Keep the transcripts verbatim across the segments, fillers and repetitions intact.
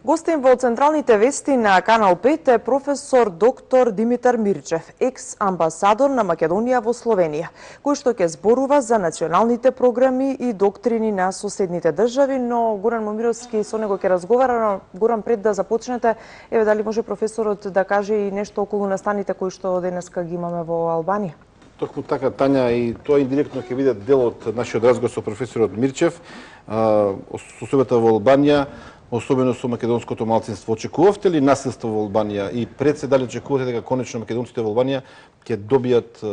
Гостин во централните вести на Канал пет е професор доктор Димитар Мирчев, екс-амбасадор на Македонија во Словенија, кој што ќе зборува за националните програми и доктрини на соседните држави, но Горан Момировски со него ќе разговара. Горан, пред да започнете, еве дали може професорот да каже и нешто околу настаните кои што денеска ги имаме во Албанија? Токму така, Тања, и тоа индиректно ќе биде дел од нашиот разговор со професорот Мирчев, состојбата во Албанија, особено со македонското малцинство. Очекувавте ли насилство во Албанија и пред се дали очекувате дека конечно македонците во Албанија ќе добијат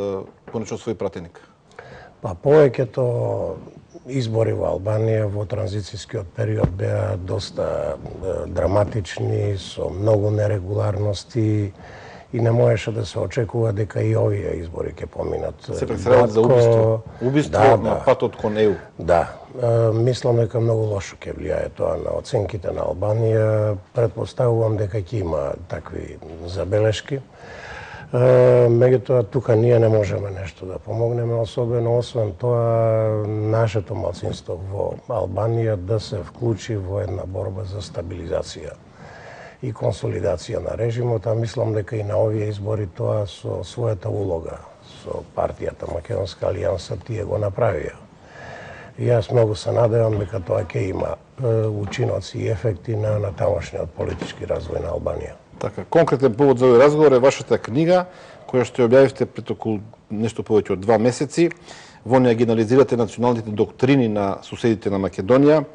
конечно свој пратеник? Па повеќето избори во Албанија во транзицијскиот период беа доста драматични, со многу нерегуларности, и не можеше да се очекува дека и овие избори ќе поминат. Се представуваат за убиство, убиство да, на да. патот кон Е У. Да, мислам дека многу лошо ќе влијае тоа на оценките на Албанија. Претпоставувам дека ќе има такви забелешки. Меѓутоа, тука ние не можеме нешто да помогнеме, особено освен тоа нашето малцинство во Албанија да се вклучи во една борба за стабилизација и консолидација на режимот, а мислам дека и на овие избори тоа со својата улога, со партијата Македонска алијанса тие го направија. И јас многу се надевам дека тоа ќе има учиноци и ефекти на, на тамошниот политички развој на Албанија. Така, конкретен повод за овој разговор е вашата книга, која што ја објавивте пред околу нешто повеќе од два месеци. Во неја ги анализирате националните доктрини на соседите на Македонија.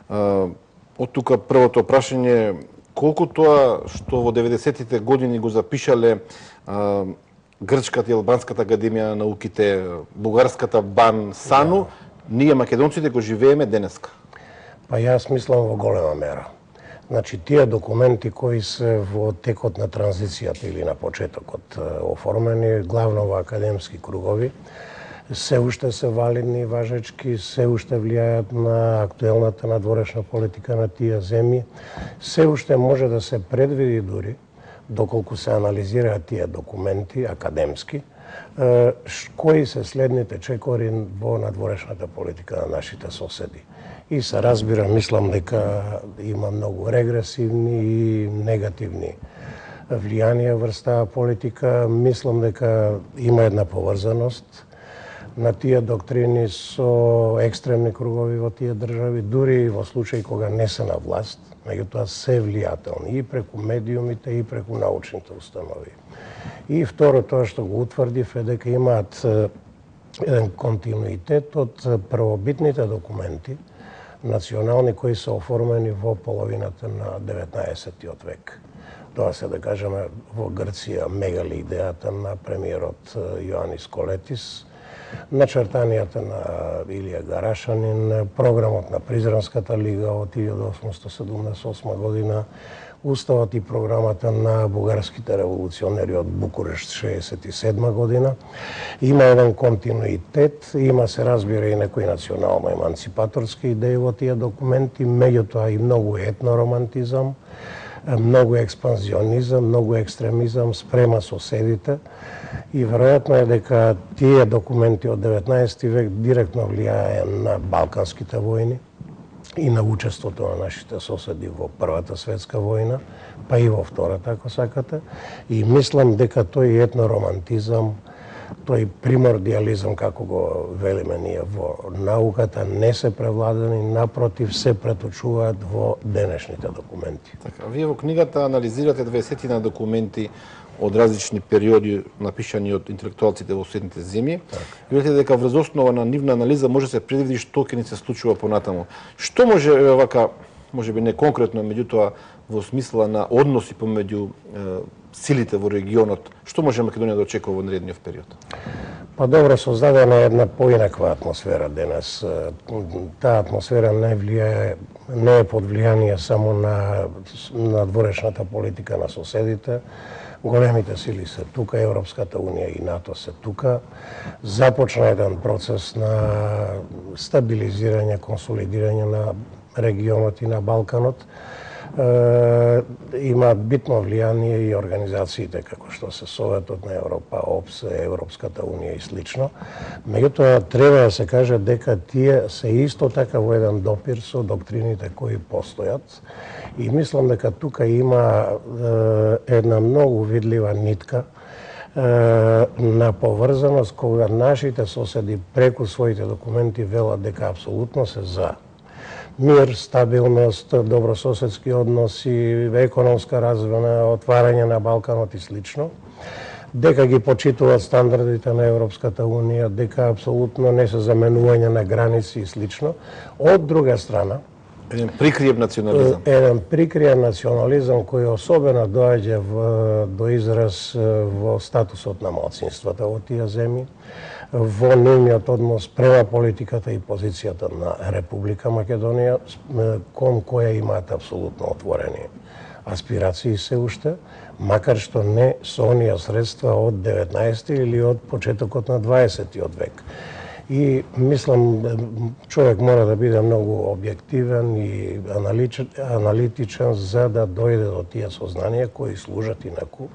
Од тука првото прашање, колку тоа што во деветдесетите години го запишале а, Грчката и Албанската академија на науките, бугарската БАН, САНУ, yeah. ние македонците го живееме денеска? Па јас мислам во голема мера. Значи, тие документи кои се во текот на транзицијата или на почетокот оформени, главно во академски кругови, се уште се валидни и важечки, се уште влијаат на актуелната надворешна политика на тие земји, се уште може да се предвиди дури, доколку се анализираат тие документи академски, кои се следните чекори во надворешната политика на нашите соседи. И се разбира, мислам дека има многу регресивни и негативни влијанија врз таа политика. Мислам дека има една поврзаност на тие доктрини со екстремни кругови во тие држави, дури и во случај кога не се на власт, меѓутоа се влијателни и преку медиумите и преку научните установи. И второ, тоа што го утврдив е дека имаат еден континуитет од првобитните документи национални кои се оформени во половината на деветнаесеттиот век. Тоа се да кажеме во Грција мегали идејата на премиерот Јоанис Колетис, начертанијата на Илија Гарашанин, програмот на Призранската лига од илјада осумстотини седумдесет и осма година, уставот и програмата на бугарските револуционери од Букурешт шеесет и седма година. Има еден континуитет, има се разбира и некои национално-еманципаторски идеи во тие документи, меѓутоа и многу етноромантизам, многу експанзионизам, многу екстремизам спрема соседите, и веројатно е дека тие документи од деветнаесети век директно влијае на балканските војни и на учеството на нашите соседи во Првата светска војна, па и во Втората, ако сакате. И мислам дека тој етноромантизам, тој примордиализам, како го велиме ние во науката, не се превладани, напротив, се преточуваат во денешните документи. Така, вие во книгата анализирате дваесетина документи од различни периоди напишани од интелектуалците во соседните земји. И видите дека врз основа на нивна анализа може се предвиди што ќе ни се случува понатаму. Што може вака, можеби не конкретно, меѓутоа во смисла на односи помеѓу е, силите во регионот, што може Македонија да очекува во наредниот период? Па добро, создадена е една поинаква атмосфера денес. Таа атмосфера не влијае, не е под влијание само на надворешната политика на соседите. Големите сили се тука, Европската унија и НАТО се тука. Започна еден процес на стабилизирање, консолидирање на регионот и на Балканот. има битно влијание и организациите како што се Советот на Европа, ОПСЕ, Европската унија и слично. Меѓутоа треба да се каже дека тие се исто така во еден допир со доктрините кои постојат и мислам дека тука има една многу видлива нитка на поврзаност кога нашите соседи преку своите документи велат дека апсолутно се за мир, стабилност, добрососедски односи, економска развоја, отварање на Балканот и слично, дека ги почитуваат стандардите на Европската унија, дека апсолутно не се заменување на граници и слично. Од друга страна, еден прикриев национализам. Еден прикриев национализам кој особено доаѓа до израз во статусот на малцинствата во тие земји, во нивниот однос према политиката и позицијата на Република Македонија, кон која имаат апсолутно отворени аспирации се уште, макар што не со оние средства од деветнаесети или од почетокот на дваесетиот век. И мислам, човек мора да биде многу објективен и аналитичен за да дојде до тие сознанија кои служат инаку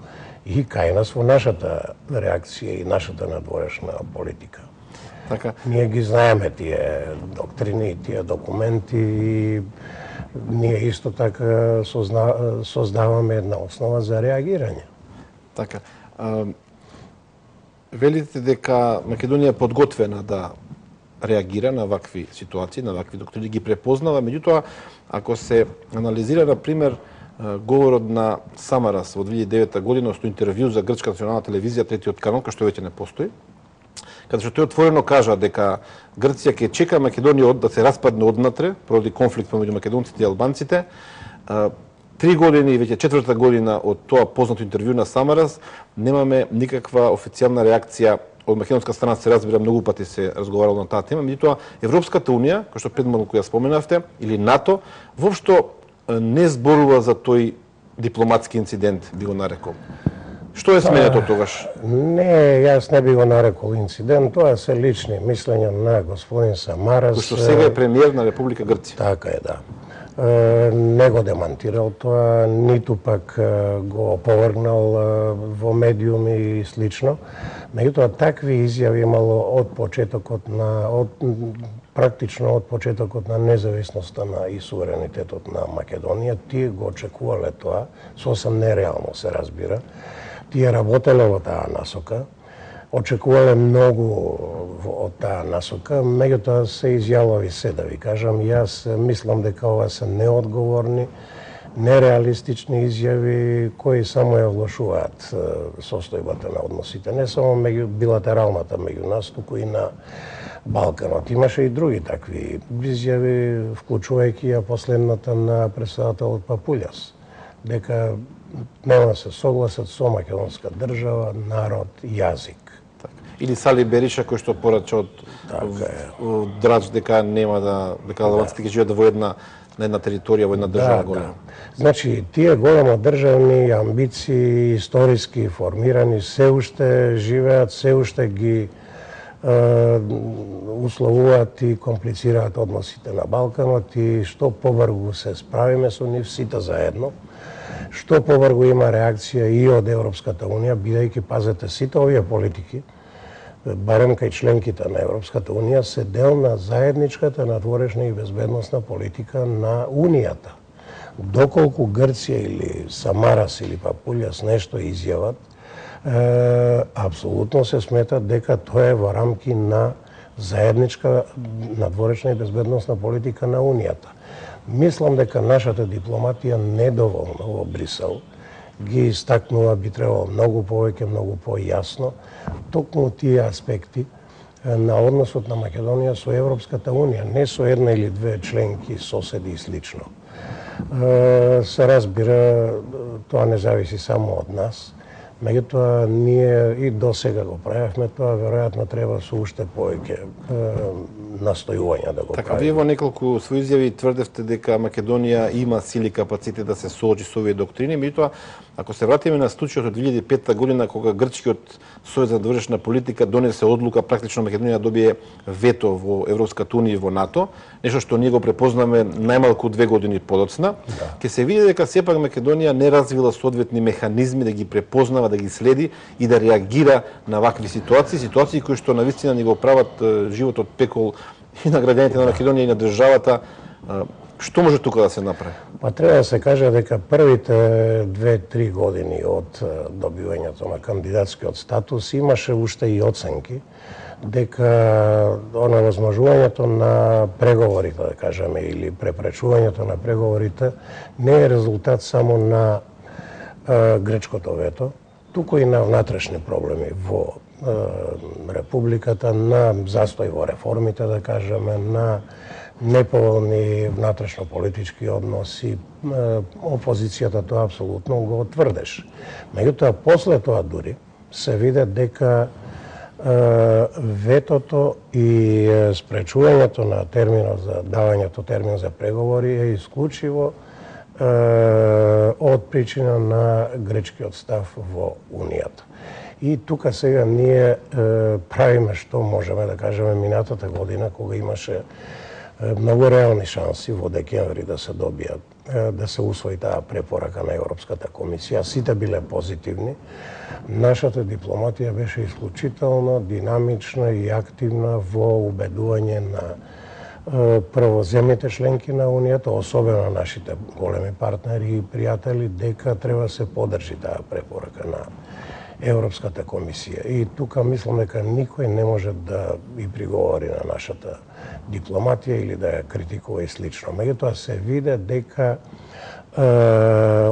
и кај нас во нашата реакција и нашата надворешна политика. Така. Ние ги знаеме тие доктрини, тие документи и ние исто така созна, создаваме една основа за реагирање. Така. А, велите дека Македонија е подготвена да реагира на вакви ситуации, на вакви доктрини, ги препознава, меѓутоа, ако се анализира, на пример, говорот на Самарас во две илјади и девета година со интервју за грчка национална телевизија, третиот канал, кој што веќе не постои, каде што тој отворено кажа дека Грција ќе чека Македонија да се распадне однатре, поради конфликт помеѓу македонците и албанците. Три години, веќе четврта година од тоа познато интервју на Самарас, немаме никаква официјална реакција од македонска страна, се разбира, многу пати се разговарало на таа тема, меѓутоа Европската унија, кој што предмалку ја споменавте, или НАТО, воопшто не зборува за тој дипломатски инцидент, би го нарекол. Што е сменето тогаш? Не, јас не би го нарекол инцидент, тоа се лични мислења на господин Самарас. Кој што сега е премиер на Република Грција. Така е, да. Не го демантирал тоа, ниту пак го оповргнал во медиуми и слично. Меѓутоа, такви изјави имало од почетокот на, од, практично од почетокот на независноста на и суверенитетот на Македонија. Тие го очекувале тоа, сосем нереално се разбира. Тие работеле во таа насока, очекувале многу од таа насока, меѓутоа се изјавови се, да ви кажам. Јас мислам дека ова се неодговорни, нереалистични изјави кои само ја влошуваат состојбата на односите, не само меѓу билатералната меѓу нас, туку и на Балканот. Имаше и други такви изјави, вклучувајќи ја последната на претседателот Папулјас, дека нема да се согласат со македонска држава, народ и јазик. Или Сали Бериша, кој што порача од Драч дека нема да, дека албанците ќе живеат во една на една територија, во една држава голема. Значи, тие големо државни амбиции, историски формирани, се уште живеат, се уште ги условуваат и комплицираат односите на Балканот и што побрзо се справиме со нив сите заедно, што побрзо има реакција и од Европската унија, бидејќи, пазете, сите овие политики, барем кај членките на Европската унија, се дел на заедничката надворешна и безбедносна политика на Унијата. Доколку Грција или Самарас или Папулјас нешто изјават, е, апсолутно се смета дека тоа е во рамки на заедничка надворешна и безбедносна политика на Унијата. Мислам дека нашата дипломатија недоволно во Брисел ги истакнува, би требало многу повеќе, многу појасно, токму тие аспекти на односот на Македонија со Европската унија, не со една или две членки, соседи и слично. Се разбира, тоа не зависи само од нас. Меѓутоа, ние и до сега го правевме тоа, веројатно треба со уште повеќе настојувања да го Така, правиме. вие во неколку своји изјави тврдевте дека Македонија има сили и капацитет да се соочи со овие доктрини, меѓутоа, ако се вратиме на случајот од две илјади и петта година, кога грчкиот Сојуз за довршна политика донесе одлука практично Македонија добие вето во Европската унија и во НАТО, нешто што ние го препознаме најмалку две години подоцна, да. Ке се види дека сепак Македонија не развила соодветни механизми да ги препознава, да ги следи и да реагира на вакви ситуации, ситуации кои што навистина ни го прават животот пекол и на граѓаните на Македонија и на државата. Што може тука да се направи? Па треба да се каже дека првите две-три години од добивањето на кандидатскиот статус имаше уште и оценки дека оневозможувањето на преговорите, да кажеме, или препречувањето на преговорите не е резултат само на е, грчкото вето, туку и на внатрешни проблеми во е, Републиката, на застој во реформите, да кажеме, на неповолни внатрешно-политички односи. Опозицијата тоа апсолутно го тврдеше. Меѓутоа, после тоа дури се виде дека ветото и спречувањето на терминот за давањето термин за преговори е исклучиво од причина на грчкиот став во Унијата. И тука сега ние правиме што можеме, да кажеме, минатата година, кога имаше многу реални шанси во декември да се добијат, да се усвои таа препорака на Европската комисија. Сите биле позитивни. Нашата дипломатија беше исклучително динамична и активна во убедување на прво земјите членки на Унијата, особено нашите големи партнери и пријатели, дека треба се подржи таа препорака на Европската комисија. И тука мислам дека никој не може да и приговори на нашата дипломатија или да ја критикува и слично. Меѓутоа се виде дека е,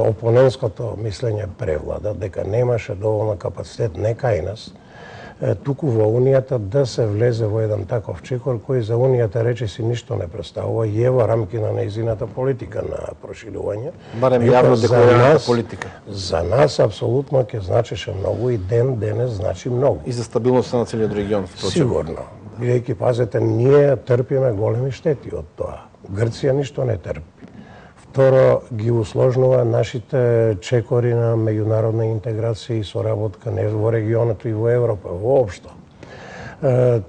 опонентското мислење превлада, дека немаше доволно капацитет не кај нас, е, туку во Унијата да се влезе во еден таков чекор кој за Унијата речиси ништо не представува и е во рамки на нејзината политика на проширување. Барем јавно декларираната политика. За нас апсолутно ќе значеше многу и ден денес значи многу. И за стабилноста на целиот регион. Сигурно. Бидејќи, пазете, ние трпиме големи штети од тоа. Грција ништо не трпи. Второ, ги усложнува нашите чекори на меѓународна интеграција и соработка не во регионот и во Европа, воопшто.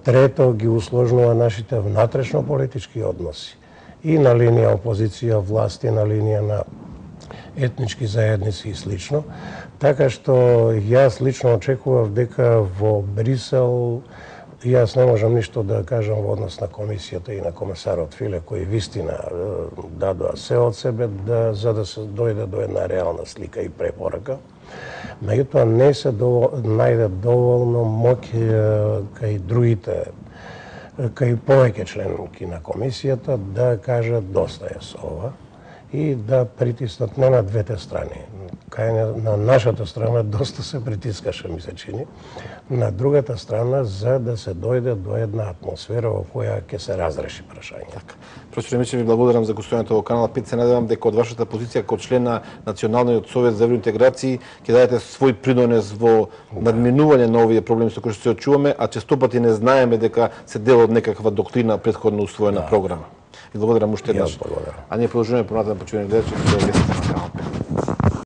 Трето, ги усложнува нашите внатрешно-политички односи. И на линија опозиција, власти, на линија на етнички заедници и слично. Така што јас лично очекував дека во Брисел јас не можам ништо да кажам во однос на комисијата и на комесарот Филе, кои вистина дадоа се од себе да, за да се дојде до една реална слика и препорака. Меѓутоа не се довол, најде доволно моќ кај другите, кај повеќе членки на комисијата да кажат доста е со ова и да притиснат не на двете страни. Кај на нашата страна доста се притискаше, ми се чини, на другата страна за да се дојде до една атмосфера во која ќе се разреши прашање. Така. Професор Мирчев, ви благодарам за гостувањето во Канал пет. Се надевам дека од вашата позиција како член на Националниот совет за евроинтеграција ќе дадете свој придонес во надминување на овие проблеми со кои што се очуваме, а често пати не знаеме дека се дел од некаква доктрина претходно усвоена да. програма. Ви благодарам уште еднаш. А ние продолжуваме понатаму почивање гледачи,